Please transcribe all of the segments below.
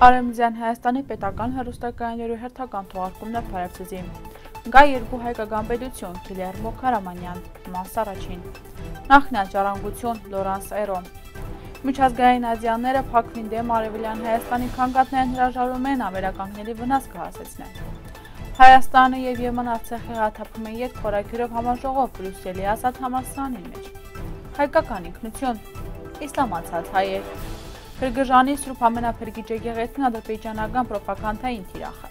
Արևմտյան Հայաստանի պետական հեռուստակայաններու հերթական թողարկումն է Փարեվցիզի։ Գա երկու հայկական պետություն, Գիլերմո Քարամանյան, մաս առաջին։ Նախնյալ ժառանգություն, Լորանս Էրո։ Միջազգային ադյանները փակվին դեմ Արևելյան Հայաստանի քանգատներն հրաժարում են ավերականգների վնաս կհասեցնեն։ Հայաստանը եւ Եմեն Արցախի հաթափում են ետ խորագիրով համաժողով Բրյուսելի ազատ համալսարանի մեջ։ Հայկական ինքնություն, իսլամացած հայեր։ Փրկժանի Սուրբ ամենափրկիչ եկեղեցին ադրբեջանական պրոպագանդային թիրախը։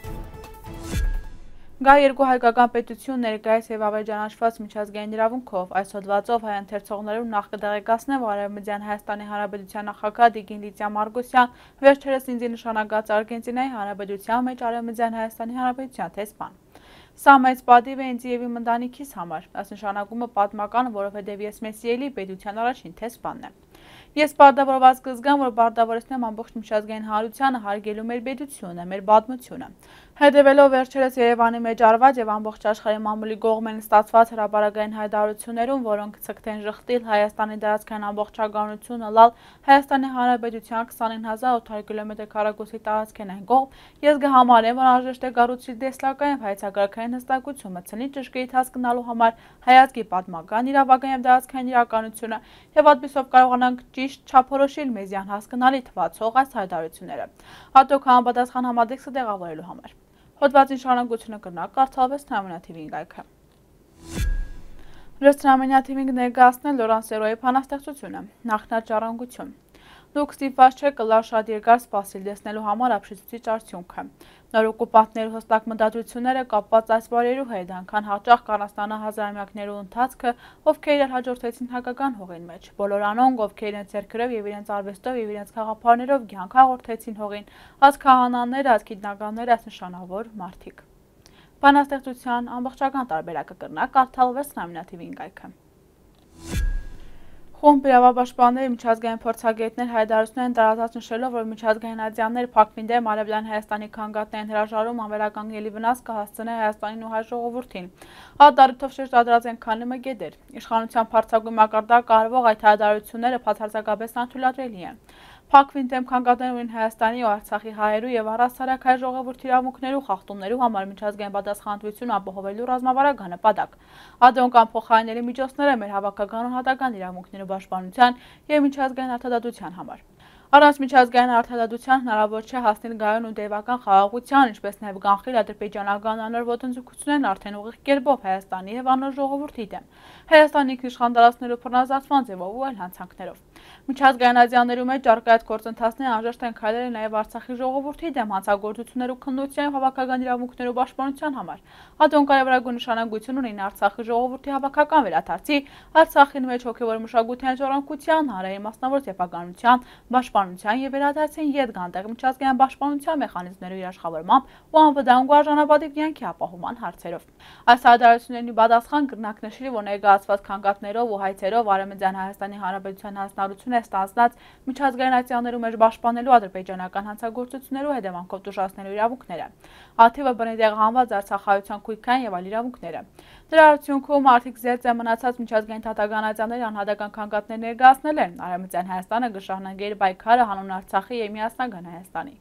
Գա երկու հայկական պետություն ներկայիս եւ ավերջանաչված միջազգային իրավունքով այս հոդվածով հայ ընթերցողներուն նախ կդեղեկացնեմ, որ Արևմտյան Հայաստանի Հանրապետության նախագահ Տիկին Լիդիա Մարգոսյան վերջերս ինձ նշանակած Արգենտինայի Հանրապետության մեջ Արևմտյան Հայաստանի Հանրապետության տեսփան։ Սա մեծ պատիվ է ինձ եւ իմ ընտանիքիս համար, այս նշանակումը պատմական, որովհետեւ ես Մեսիելի պետության առաջին տեսփանն եմ։ Ես պարտավորված կզգամ, որ պարտավորեցնեմ ամբողջ միջազգային հանրությանը հարգելու մեր պետությունը, մեր պատմությունը։ Հետևելով վերջերս Երևանի մեջ արված եւ ամբողջ աշխարհի մամուլի կողմեն ստացված հրապարակային հայտարարություններում, որոնք ցկտեն ժխտիլ Հայաստանի դարձքային ամբողջականությունը լալ Հայաստանի Հանրապետության 29800 կիլոմետր քառակուսի տարածքեն այն կողմ, ես կհամարեմ, որ անհրաժեշտ է կառուցել դեսլական եւ հայցակարգային հստակություն մտցնի ճշգրիտ հասկանալու համար հայացքի պատմական, իրավական եւ դարձքային իրականությունը եւ այդպիսով կարողանանք ճիշտ չափորոշիլ մեզյան հասկանալի թվացող այս հայտարարությունները, հատուկ համապատասխան համատեքստը տեղավորելու համար։ Հոդվածի շարունակությունը կրնակ կարդալվեց Թրամենա TV-ին գայքը։ Թրամենա TV-ին ներկայացնել Լորանս Էրոյի բանաստեղծությունը, նախնած ժառանգություն։ Դուք ստիպված չեք կլար շատ երկար սպասել տեսնելու համար ապշեցուցիչ արդյունքը։ Նոր օկուպանտներու հստակ մտադրությունները կապված այս բարերու հետ, անգան հաճախ կանաստանա հազարամյակներու ընթացքը, ովքեր իրար հաջորդեցին հայկական հողին մեջ, բոլոր անոնք, ովքեր իրենց ձեռքերով եւ իրենց արվեստով եւ իրենց խաղապարներով կյանք հաղորդեցին հողին, այս քահանաները, այս գիտնականները, այս նշանավոր մարդիկ։ Բանաստեղծության ամբողջական տարբերակը կրնակ կարդալվեց Թրամենա TV-ին գայքը։ Խումբ իրավապաշտպանների միջազգային փորձագետներ հայտարարություններ են տարածած նշելով, որ միջազգային ադյաններ փակվին դեմ Արևելյան Հայաստանի քանգատներն հրաժարում անվերականգնելի վնաս կհասցնի Հայաստանին ու հայ ժողովրդին։ Հատարիթով շեշտադրած են քանի մգեդեր։ Իշխանության փորձագույն մակարդակ կարվող այդ հայտարարությունները բացարձակապես անթույլատրելի են։ Փակվին դեմ քանգատներն Հայաստանի ու Արցախի հայերու եւ առհասարակ հայ ժողովրդի իրավունքներու խախտումներու համար միջազգային պատասխանատվություն ապահովելու ռազմավարական նպատակ։ Ադոնկան փոխարինելի միջոցները մեր հավաքական ու հատական իրավունքներու պաշտպանության եւ միջազգային արդարադատության համար։ Առանց միջազգային արդարադատության հնարավոր չէ հասնել գայուն ու տևական խաղաղության, ինչպես նաև կանխել ադրբեջանական անոր ոտնձգություններն արդեն ուղիղ կերպով Հայաստանի եւ անոր ժողովրդի դեմ, Հայաստանի ինքնիշխան տարածքներու բռնազավթման ձևով ու այլ հանցանքներով։ Միջազգային ադյաններու մեջ արկայած գործընթացները անհրաժեշտ են քայլել նաև Արցախի ժողովրդի դեմ հանցագործություններու քննության եւ հավաքական իրավունքներու պաշտպանության համար։ Ադոն կարևորագույն նշանակություն ունեն Արցախի ժողովրդի հավաքական վերադարձի, Արցախին մեջ հոգեվոր մշակութային ժառանգության, հանրային մասնավոր սեփականության, պաշտպանության եւ վերադարձին ետ գանտեղ միջազգային պաշտպանության մեխանիզմներու իշխավորմամբ ու անվտանգ ու արժանապատիվ կյանքի ապահովման հարցերով։ Այս հայտարարությունների պատասխան կրնակ նշել, որ ներկայացված քանգատներով ու հայցերով Արևմտյան Հայաստանի Հանրապետության հանձնարարություն է ստանձնած միջազգային ադյաններու մեջ պաշտպանելու ադրբեջանական հանցագործություններու հետևանքով տուժածներու իրավունքները, աթիվը բռնի տեղահանված արցախայության քույքային եւ այլ իրավունքները։ Դրա արդյունքում արդիկ զերծ է մնացած միջազգային դատական ադյանների անհատական քանգատներ ներկայացնել են Արևմտյան Հայաստանը գշահնագերի պայքարը հանուն Արցախի եւ միասնական Հայաստանի։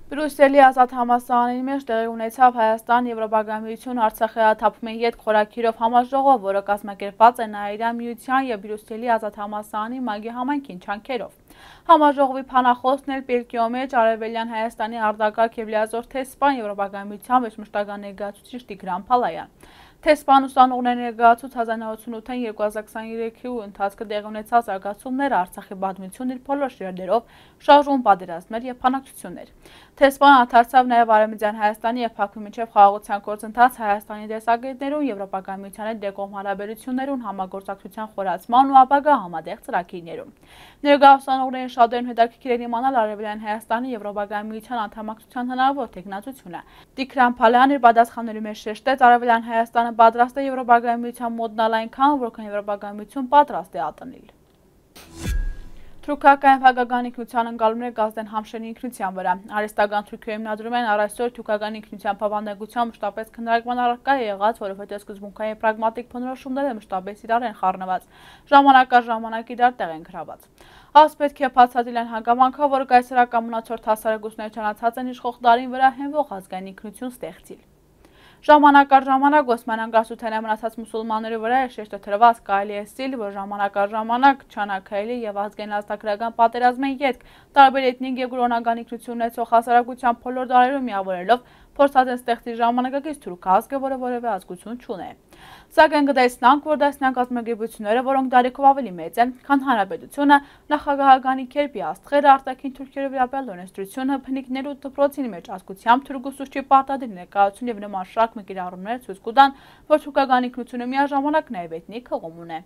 Բրյուսելի ազատ համալսարանի մեջ տեղի ունեցավ Հայաստան Եվրոպական միություն Արցախի հաթափումի ետ խորագիրով համաժողով, որը կազմակերպված է Նաիրյան միության եւ Բրյուսելի ազատ համալսարանի մագի համայնքին չանքերով։ Համաժողովի փանախոսն էլ Պերկիո մեջ Արևելյան Հայաստանի արտակարգ եւ լիազոր տեսփան Եվրոպական միության մեջ մշտական ներկայացուցիչ Տիգրան Փալայան։ Տեսփան ուսանողների ներկայացուց 1988-ին 2023-ի ընթացքը տեղի ունեցած զարգացումները Արցախի պատմությունն իր բոլոր շերտերով, շարժում պատերազմներ եւ բանակցություններ։ Տեսփան անդրադարձավ նաեւ Արևմտյան Հայաստանի եւ Բաքվի միջև խաղաղության գործընթաց Հայաստանի դեսագետներուն, Եվրոպական միության հետ դեկոմ հարաբերություններուն, համագործակցության խորացման ու ապագա համատեղ ծրագրերուն։ Ներկայ ուսանողներին շատերն հետաքրքիր էր իմանալ Արևելյան Հայաստանի Եվրոպական միության անդամակցության հնարավոր տեխնացությունը։ Տիգրան Փալայան իր պատասխանների մեջ շեշտեց Արևելյան Հայաստանը պատրաստ է Եվրոպական միության մոտնալ այնքան, որքան Եվրոպական միություն պատրաստ է ատնել։ Թուրքական հայկական ինքնության ընկալումները կազդեն Համշերի ինքնության վրա։ Արհեստական Թուրքիայում մնադրում են առայսօր թուրքական ինքնության բավանդակությամբ մշտապես քննարկման առարկա է եղած, որովհետև սկզբունքային պրագմատիկ բնորոշումները մշտապես իրար են խառնված, ժամանակ առ ժամանակ իրար տեղ են գրաված։ Այս պետք է բացատրել են հանգամանքը, որ կայսերական մնացորդ հասարակությունները չանացած են իշխող դարին վրա հենվող ազգային ինքնություն ստեղծել։ Ժամանակ առ ժամանակ Օսմանյան կայսրության մնացած մուսուլմանների վրա է շեշտը դրված, կարելի է ասել, որ ժամանակ առ ժամանակ չանակայելի եւ ազգային ազատագրական պատերազմի ետք տարբեր էթնիկ եւ կրոնական ինքնություն ունեցող հասարակության բոլոր դարերում միավորելով փորձած են ստեղծել ժամանակակից թուրք ազգը, որը որևէ ազգություն չունի։ Սակայն կտեսնանք, որ դասնյակ կազմակերպությունները, որոնք դարիքով ավելի մեծ են, քան հանրապետությունը, նախագահականի կերպի աստղերը, արտաքին թուրքերի վերաբերյալ օրենսդրությունը, բնիկներու դպրոցի մեջ ազգությամբ թուրքուսուցչի պարտադիր ներկայություն եւ նման շարք կիրառումներ ցույց կտան, որ թուրքական ինքնությունը միաժամանակ նաեւ էթնիկ հղում ունի։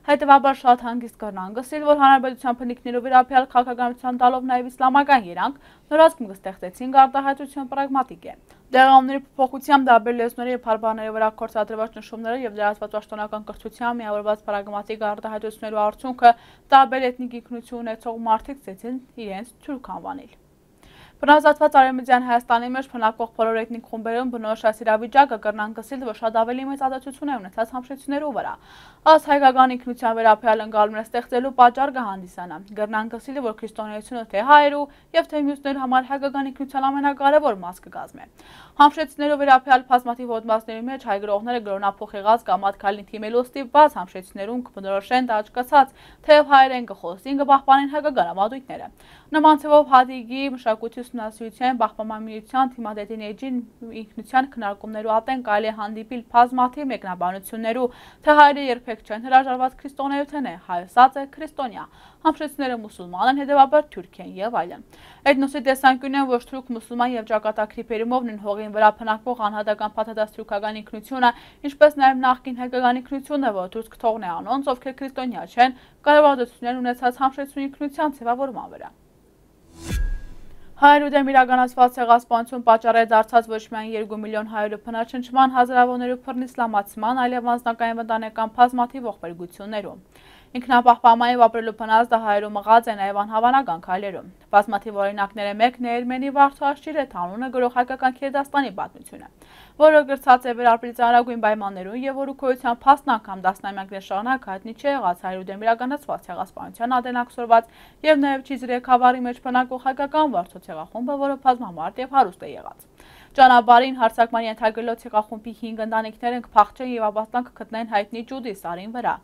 Հետևաբար շատ հանգիստ կրնան գսել, որ հանրապետության բնիկներու վերաբերյալ քաղաքականության տալով նաեւ իսլամական երանգ, նորազգում կստեղծեցին արտահայտություն պրագմատիկ է։ Դեղամների փոփոխությամբ դաբեր լեզուների եւ բարբառների վրա կորցադրված նշումները եւ լրացված պաշտոնական կրթությամբ միավորված պրագմատիկ արտահայտություններու արդյունքը տարբեր էթնիկ ինքնություն ունեցող մարդիկ ցեցին իրենց թուրք անվանել։ Բնազատված Արևմտյան Հայաստանի մեջ բնակվող բոլոր էթնիկ խումբերում բնորոշ այս իրավիճակը կրնան գսել, որ շատ ավելի մեծ ազդեցություն է ունեցած համշեցություններու վրա։ Այս հայկական ինքնության վերաբերյալ ընկալումներ ստեղծելու պատճառ կհանդիսանա։ Կրնան գսել, որ քրիստոնեությունը թե հայերու եւ թե մյուսների համար հայկական ինքնության ամենակարևոր մաս կգազմի։ Համշեցություններու վերաբերյալ բազմաթիվ հոդվածների մեջ հայ գրողները գրոնափոխ եղած կամ ատքալին թիմելու ստիպված համշեցություններուն կբնորոշեն դաճկացած, թեև հայերեն կխոսին կպահպանեն հայկական ավանդույթները։ Նման ցավով հադիգի մշակույթի ուսումնասիրության բախպանման միության թիմադետին էջին ինքնության քննարկումներու ատեն կարելի է հանդիպել բազմաթիվ մեկնաբանություններու, թե հայերը երբեք չեն հրաժարված քրիստոնեություն է, հայոսած է քրիստոնյա, համշեցությունները մուսուլման են, հետևաբար թուրք են եւ այլն։ Էթնոսի տեսանկյունն ոչ թուրք մուսուլման եւ ճակատագրի բերումով նույն հողին վրա փնակվող անհատական փաթաթած թուրքական ինքնությունը, ինչպես նաեւ նախկին հայկական ինքնությունը, որ թուրք թողն է անոնց, ովքեր քրիստոնյա չեն, կարևորություններ ունեցած համշեցություն ինքնության ձևավորման վրա։ Հայերու դեմ իրականացված ցեղասպանություն պատճառ է դարձած ոչ միայն 2 միլիոն հայերու բնաչնչման, հազարավորներու բռնիսլամացման, այլև անձնակային վտանգական բազմաթիվ ողբերգություններում։ Ինքնապահպանման եւ ապրելու բնազդը հայերու մղած է նաեւ անհավանական քայլերում։ Բազմաթիվ օրինակները մեկն է Էրմենի Վարդաշիրեթ անունը գրող հայկական Քերդաստանի պատմությունը, որը գրծած է վերապրի ծանրագույն պայմաններում եւ որու քոյության փաստն անգամ դասնամյակներ շարունակ հայտնի չէ եղած հայերու դեմ իրականացված ցեղասպանության ադենաքսորված եւ նաեւ Չիզրե խավարի մեջ բնակվող հայկական վարձո ցեղախումբը, որը բազմամարդ եւ հարուստ է եղած։ Ճանապարհին հարձակման ենթարկելով ցեղախումբի 5 ընտանիքներ են կփախչեն եւ ապաստան կգտնեն հայտնի Ջուդի սարին վրա։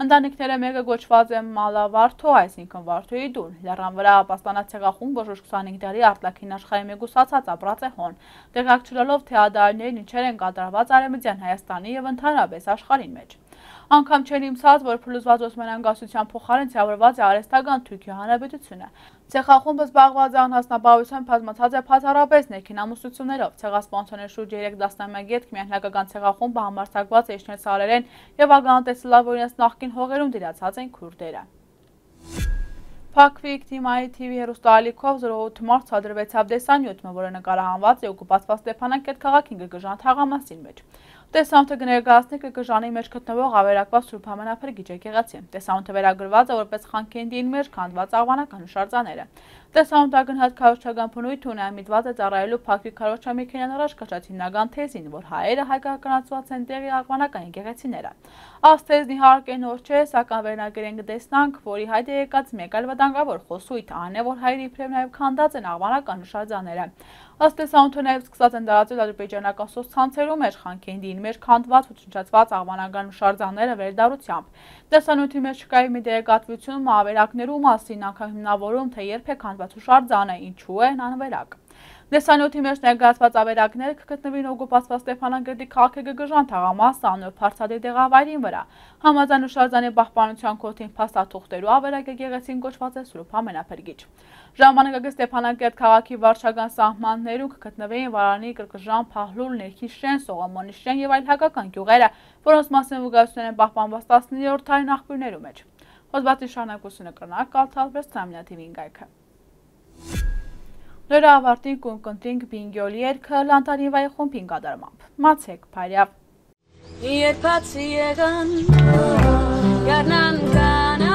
Ընտանիքները մեկը գոչված է Մալավարթո, այսինքն Վարդոյի դուն։ Լեռան վրա ապաստանած ցեղախումբը 25 տարի արտաքին աշխարհի մեգուսացած ապրած է հոն, տեղակ չլելով թե ադարներն ինչեր են կատարված Արևմտյան Հայաստանի եւ ընդհանրապես աշխարհին մեջ։ Անգամ չեն իմացած, որ փլուզված Օսմանյան գասության փոխարեն ցավրված է արհեստական Թուրքիա հանրապետությունը։ Ցեղախումբը զբաղված է անհասնապահությամբ բազմացած է փաթարապես ներքին ամուսնություններով։ Ցեղասպանությունների շուրջ 3 տասնամյակ ետք միայն հայկական ցեղախումբը համարձակված է իջնել սարերեն եւ ագանատեսլավ օրինաց նախկին հողերում դիրացած են քուրդերը։ Փակվիկ թիմայի TV հեռուստաալիքով 08 մարտ ցադրվեցավ տեսանյութը, որը նկարահանված է օկուպացված Ստեփանակերտ քաղաքի Գգժան թաղամասին մեջ։ Տեսանյութը կներկայացնի Գգժանի մեջ գտնվող ավերակված Սուրբ Համենափրկիչ եկեղեցի։ Տեսանյութը վերագրված է որպես Խանքենդիին մեջ քանդված աղվանական հուշարձանները։ Տեսանյութը ակնհայտ քարոզչական բնույթ ունի, այմիտված է ծառայելու Փակվիկ քարոզչամիքենյան առաջ կրած հիմնական թեզին, որ հայերը հայկականացված են տեղի աղվանական եկեղեցիները։ Այս թեզն իհարկե նոր չէ, սակայն վերնագրեն կտեսնանք, որի հայտ է եկած մեկ այլ վտանգավոր խոսույթ, այն է, որ հայերի իբրև նաև քանդած են աղվանական հուշարձանները։ Ըստ տեսանյութի նաև սկսած են տարածել ադրբեջանական սոցցանցերու մեջ Խանքենդիին մեջ քանդված ու ճնշացված աղվանական հուշարձանները վերդառությամբ։ Տեսանյութի մեջ չկա մի դերակատվություն ավերակներու մասին, անգամ հիմնավորում, թե երբ է քանդված հուշարձանը, ինչու է անվերակ։ Տեսանյութի մեջ ներկայացված ավերակները կգտնվին օկուպացված Ստեփանակերտի քաղաքի Գգժան թաղամասը անոր փարսադիր տեղավայրին վրա։ Համաձայն հուշարձանի պահպանության կոթին փաստաթուղթերու ավերակ եկեղեցին կոչված է Սուրբ Համենափրկիչ։ Ժամանակակից Ստեփանակերտ քաղաքի վարչական սահմաններում կգտնվեին Վարանի, Կրկժան, Փահլուլ, Ներքիշեն, Սողոմոնի շեն եւ այլ հայկական գյուղերը, որոնց մասին վկայություններ են պահպանված 19-րդ դարի նախկույններու մեջ։ Հոդվածի շարունակությունը կրնակ կալթալվեց Թամնյա TV-ին գայքը։ Լորա ավարտին կունկընտրինք բինգյոլի երկը լանտարինվայի խումբին կատարմամբ։ Մացեք փարյավ։ Երբացի եղան, գարնան կան